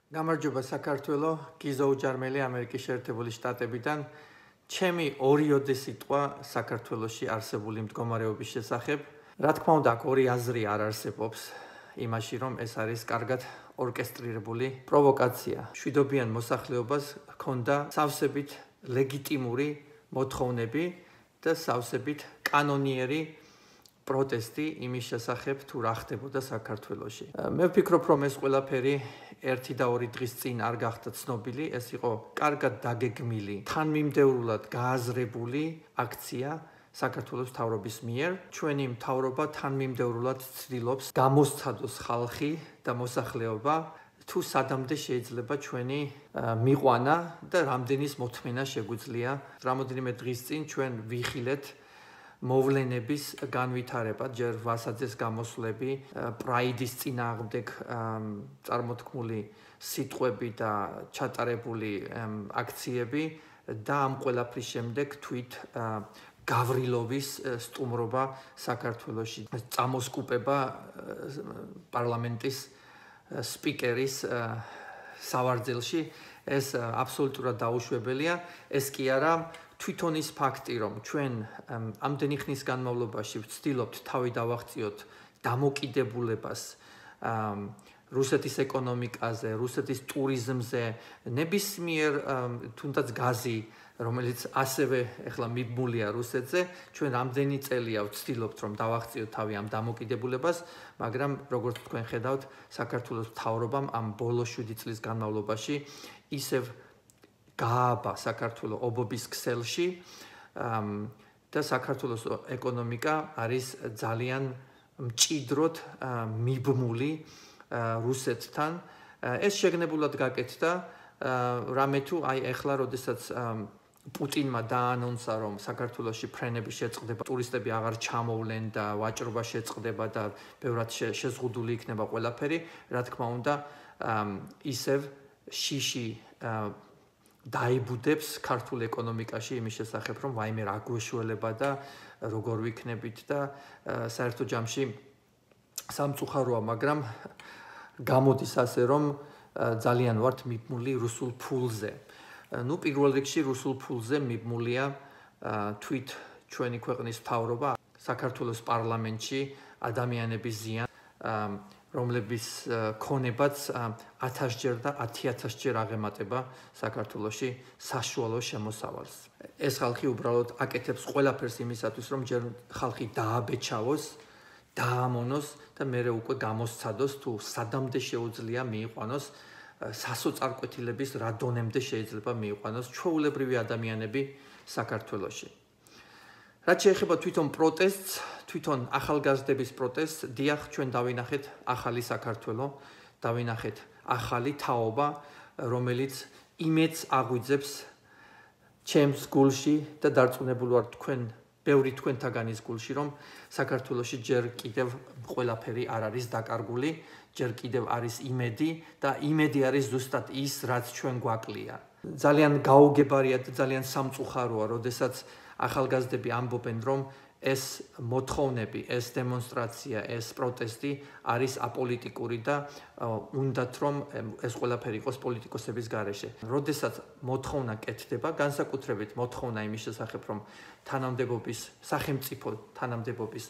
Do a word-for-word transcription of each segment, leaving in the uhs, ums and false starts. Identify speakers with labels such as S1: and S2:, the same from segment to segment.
S1: გამარჯობა საქართველო, გიზო უჯარმელი ამერიკის შეერთებული შტატებიდან. ჩემი ორიოდე სიტყვა საქართველოში არსებული მდგომარეობის შესახებ. რა თქმა უნდა, აქ ორი აზრი არ არსებობს იმაში, რომ ეს არის კარგად ორკესტრირებული პროვოკაცია. მშვიდობიან მოსახლეობას ჰქონდა სავსებით ლეგიტიმური მოთხოვნები და სავსებით კანონიერი პროტესტი იმის შესახებ, თუ რა ხდებოდა საქართველოში. მე ვფიქრობ, რომ ეს ყველაფერი ერთი და ორი დღის წინ არ გახდა ცნობილი, ეს იყო კარგად დაგეგმილი, თანმიმდევრულად გააზრებული აქცია საქართველოს მთავრობის მიერ. ჩვენი მთავრობა თანმიმდევრულად ცდილობს გამოსცადოს ხალხი და მოსახლეობა, თუ სადამდე შეიძლება ჩვენი მიყვანა და რამდენის მოთმენა შეგვიძლია. რამოდენიმე დღის წინ ჩვენ ვიხილეთ მოვლენების განვითარება, ჯერ ვასაძეს გამოსვლები, პრაიდის წინააღმდეგ წარმოთქმული სიტყვები და ჩატარებული აქციები და ამ ყველაფრის შემდეგ თვით გავრილოვის სტუმრობა საქართველოში, წამოსკუპება პარლამენტის სპიკერის სავარძელში, ეს აბსოლუტურად დაუშვებელია, ეს კი არა თვითონ ის ფაქტი, რომ ჩვენ ამდენი ხნის განმავლობაში ვცდილობთ თავი დავაღწიოთ დამოკიდებულებას რუსეთის ეკონომიკაზე, რუსეთის ტურიზმზე, ნებისმიერ თუნდაც გაზი, რომელიც ასევე ეხლა მიბმულია რუსეთზე, ჩვენ რამდენი წელია ვცდილობთ, რომ დავაღწიოთ თავი ამ დამოკიდებულებას, მაგრამ როგორც თქვენ ხედავთ, საქართველოს მთავრობამ ამ ბოლო შვიდი წლის განმავლობაში ისევ გააბა საქართველოს ობობის ქსელში და საქართველოს ეკონომიკა არის ძალიან მჭიდროდ მიბმული რუსეთთან. ეს შეგნებულად გაკეთდა, რამე თუ აი ეხლა, როდესაც პუტინმა დაანონსა, რომ საქართველოში ფრენები შეწყდება, ტურისტები აღარ ჩამოვლენ და ვაჭრობა შეწყდება და ბევრად შეზღუდული იქნება ყველაფერი, რა თქმა უნდა, ისევ შიში დაიბუდებს ქართულ ეკონომიკაში იმის შესახებ, რომ ვაიმე რა გვეშველება და როგორ ვიქნებით და საერთო ჯამში სამწუხაროა, მაგრამ გამოდის ასე, რომ ძალიან ვართ მიბმული რუსულ ფულზე. ნუ პირველ რიგში რუსულ ფულზე მიბმულია თვით ჩვენი ქვეყნის მთავრობა, საქართველოს პარლამენტში ადამიანების ზიან, რომლების ქონებაც ათასჯერ და ათი ათასჯერ აღემატება საქართველოში საშუალო შემოსავალს. ეს ხალხი უბრალოდ აკეთებს ყველაფერს იმისათვის, რომ ჯერ ხალხი დააბეჭავოს, დაამონოს და მერე უკვე გამოსცადოს, თუ სადამდე შეუძლია მიიყვანოს სასოწარკვეთილების რა დონემდე შეიძლება მიიყვანოს ჩვეულებრივი ადამიანები საქართველოში. რაც შეეხება თვითონ პროტესტს, თვითონ ახალგაზრდების პროტესტს, დიახ, ჩვენ დავინახეთ ახალი საქართველო, დავინახეთ ახალი თაობა, რომელიც იმედს აღვიძებს ჩემს გულში და დარწმუნებული ვარ თქვენ, ბევრი თქვენთაგანის გულში, რომ საქართველოში ჯერ კიდევ ყველაფერი არ არის დაკარგული, ჯერ კიდევ არის იმედი და იმედი არის ზუსტად ის, რაც ჩვენ გვაკლია. ძალიან გაუგებარია და ძალიან სამწუხაროა, როდესაც ახალგაზრდები ამბობენ, რომ ეს მოთხოვნები, ეს დემონსტრაცია, ეს პროტესტი არის აპოლიტიკური და უნდათ რომ ეს ყველაფერი იყოს პოლიტიკოსების გარეშე. როდესაც მოთხოვნა კეთდება, განსაკუთრებით მოთხოვნა იმის შესახებ, რომ თანამდებობის, სახელმწიფო თანამდებობის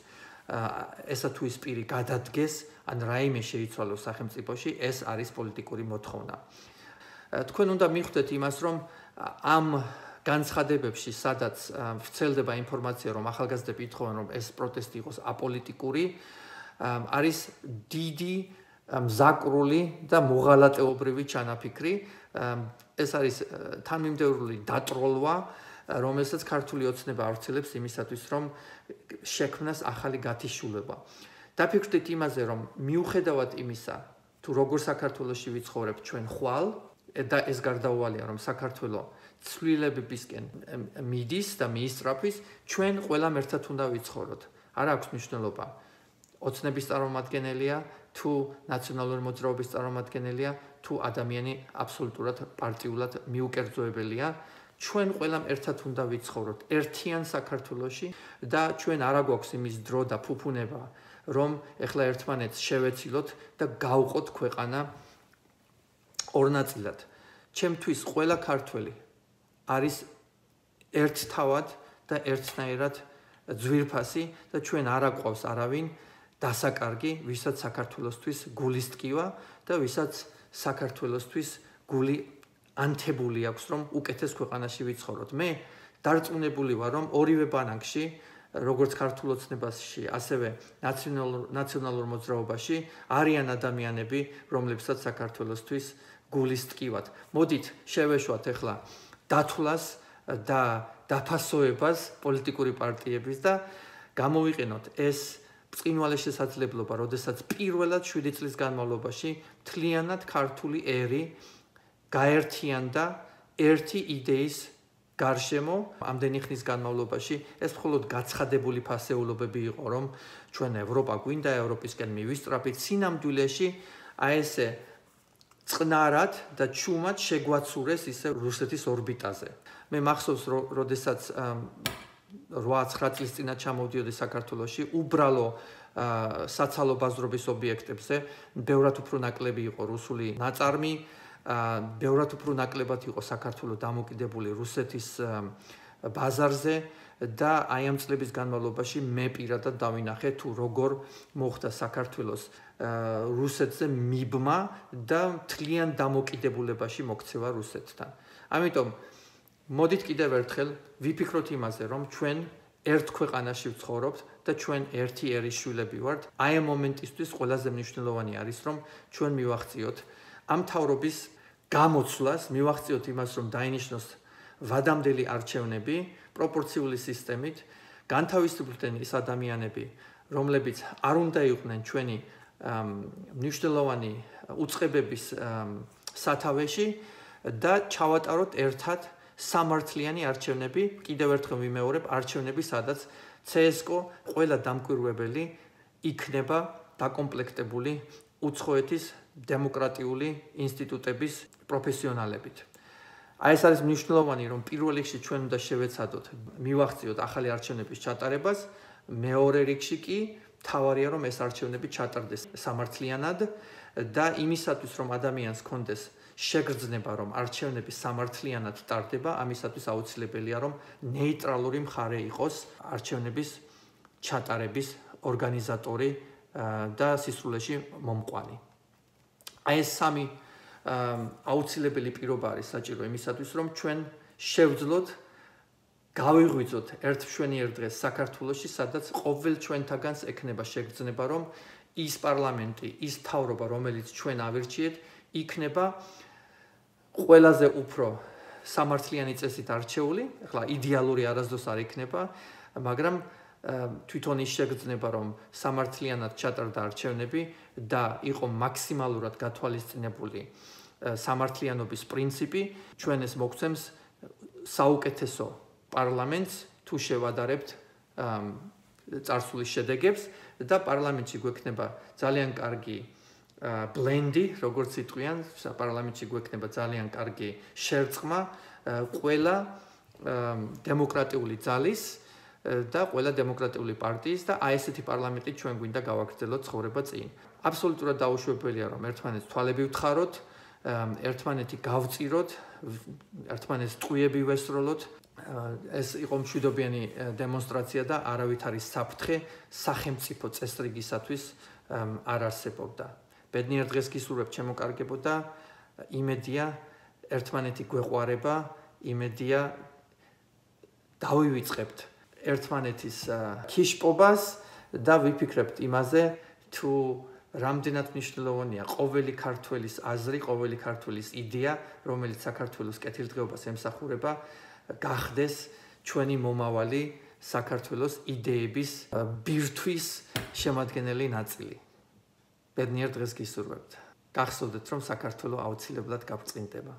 S1: ესა თუ ის პირი გადადგეს, ან რაიმე შეიცვალოს სახელმწიფოში, ეს არის პოლიტიკური მოთხოვნა. თქვენ უნდა მიხვდეთ იმას, რომ ამ განცხადებებში, სადაც ვრცელდება ინფორმაცია, რომ ახალგაზრდები ითხოვენ, რომ ეს პროტესტი იყოს აპოლიტიკური, არის დიდი მზაკრული და მოღალატეობრივი ჩანაფიქრი. ეს არის თანმიმდევრული დატროლვა, რომელსაც ქართული ოცნება ავრცელებს იმისათვის, რომ შექმნას ახალი გათიშულება. დაფიქრდით იმაზე, რომ მიუხედავად იმისა, თუ როგორ საქართველოში ვიცხოვრებთ ჩვენ ხვალ, და ეს გარდაუვალია, რომ საქართველო ცვლილებებისკენ მიდის და მიისწრაფვის, ჩვენ ყველამ ერთად უნდა ვიცხოვროთ. არ აქვს მნიშვნელობა ოცნების წარმომადგენელია, თუ ნაციონალური მოძრაობის წარმომადგენელია, თუ ადამიანი აბსოლუტურად პარტიულად მიუკერძოებელია. ჩვენ ყველამ ერთად უნდა ვიცხოვროთ ერთიან საქართველოში და ჩვენ არ აგვაქვს იმის დრო და ფუფუნება, რომ ეხლა ერთმანეთს შევეცილოთ და გავყოთ ქვეყანა ორ ნაწილად. ჩემთვის ყველა ქართველი არის ერთთავად და ერთნაირად ძვირფასი და ჩვენ არ აყვავს არავინ დასაკარგი, ვისაც საქართველოსთვის გულის ტკივა და ვისაც საქართველოსთვის გული ანთებული აქვს, რომ უკეთეს ქვეყანაში ვიცხოვროთ. მე დარწმუნებული ვარ, რომ ორივე ბანაკში, როგორც ქართულ ოცნებაში, ასევე ნაციონალურ მოძრაობაში არიან ადამიანები, რომლებსაც საქართველოსთვის გულის ტკივათ. მოდით შევეშვათ ახლა დათვლას და დაფასოებას პოლიტიკური პარტიების და გამოვიყენოთ ეს ბრწყინვალე შესაძლებლობა, როდესაც პირველად შვიდი წლის განმავლობაში მთლიანად ქართული ერი გაერთიანდა ერთი იდეის გარშემო. ამდენი ხნის განმავლობაში ეს მხოლოდ გაცხადებული ფასეულობები იყო, რომ ჩვენ ევროპა გვინდა, ევროპისკენ მივისწრაფით, სინამდვილეში აი ესე წყნარად და ჩუმად შეგვაცურეს ისე რუსეთის ორბიტაზე. მე მახსოვს, როდესაც რვა ცხრა წლის წინა ჩამოვდიოდი საქართველოში, უბრალო საცალო ბაზრობის ობიექტებზე ბევრად უფრო ნაკლები იყო რუსული ნაწარმი, ბევრად უფრო ნაკლებად იყო საქართველოს დამოკიდებული რუსეთის ბაზარზე და აი ამ წლების განმავლობაში მე პირადად დავინახე თუ როგორ მოხდა საქართველოს რუსეთზე მიბმა და მთლიან დამოკიდებულებაში მოქცევა რუსეთთან. ამიტომ მოდით კიდევ ერთხელ ვიფიქროთ იმაზე, რომ ჩვენ ერთ ქვეყანაში ვცხოვრობთ და ჩვენ ერთი ერის შვილები ვართ. აი ამ მომენტისთვის ყველაზე მნიშვნელოვანი არის, რომ ჩვენ მივახციოთ ამ მთავრობის გამოცვლას, მივახციოთ იმას, რომ დაინიშნოს ვადამდელი არჩევნები პროპორციული სისტემით, განთავისუფლდნენ ის ადამიანები, რომლებიც არ უნდა იყვნენ ჩვენი მნიშვნელოვანი უწყებების სათავეში და ჩავატაროთ ერთად სამართლიანი არჩევნები, კიდევ ერთხელ ვიმეორებ, არჩევნები, სადაც ცსკო ყველა დამკვირვებელი იქნება დაკომპლექტებული უცხოეთის დემოკრატიული ინსტიტუტების პროფესიონალებით. აი ეს არის მნიშვნელოვანი, რომ პირველ რიგში ჩვენ უნდა შევეცადოთ, მივახციოთ ახალი არჩევნების ჩატარებას, მეორე რიგში კი თავარია, რომ ეს არჩევნები ჩატარდეს სამართლიანად და იმისათვის, რომ ადამიანს კონდეს შეგრძნება, რომ არჩევნები სამართლიანად ტარდება, ამისათვის აუცილებელია, რომ ნეიტრალური მხარე იყოს არჩევნების ჩატარების ორგანიზატორი და სისრულეში მომყვანი. აი ეს სამი აუცილებელი პირობა არის საჭირო იმისათვის, რომ ჩვენ შევძლოთ, გავიღვიძოთ ერთ მშვენიერ დღეს საქართველოში, სადაც ყოველ ჩვენთაგანს ექნება შეგრძნება, რომ ის პარლამენტი, ის მთავრობა, რომელიც ჩვენ ავირჩიეთ, იქნება ყველაზე უფრო სამართლიანი წესით არჩეული, ახლა იდეალური არასდროს არ იქნება, მაგრამ თვითონ ის შეგრძნება, რომ სამართლიანად ჩატარდა არჩევნები და იყო მაქსიმალურად გათვალისწინებული სამართლიანობის პრინციპი, ჩვენ ეს მოგცემს საუკეთესო პარლამენტს, თუ შევადარებთ წარსულის შედეგებს და პარლამენტში გვექნება ძალიან კარგი ბლენდი, როგორც იტყვიან, პარლამენტში გვექნება ძალიან კარგი შერწყმა ყველა დემოკრატიული ძალის და ყველა დემოკრატიული პარტიის და აი ესეთი პარლამენტი ჩვენ გვინდა გავაგრძელოთ ცხოვრება წინ. აბსოლუტურად დაუშვებელია, რომ ერთმანეთს თვალები ვთხაროთ, ერთმანეთი გავწიროთ, ერთმანეთს ტყუიები ვესროლოთ. ეს იყო მშვიდობიანი დემონსტრაცია და არავითარი საფრთხე სახელმწიფო წესრიგისათვის არ არსებობდა. ბედნიერ დღეს გისურვებ ჩემო კარგებო და იმედია ერთმანეთი გვეყვარება, იმედია დავივიწყებთ ერთმანეთის ქიშპობას და ვიფიქრებთ იმაზე, თუ რამდენად მნიშვნელოვანია ყოველი ქართველის აზრი, ყოველი ქართველის იდეა, რომელიც საქართველოს კეთილდღეობას ემსახურება, გახდეს ჩვენი მომავალი საქართველოს იდეების ბირთვის შემადგენელი ნაწილი. ბედნიერ დღეს გისურვებთ. გახსოვდეთ, რომ საქართველო აუცილებლად გაბწყინდება.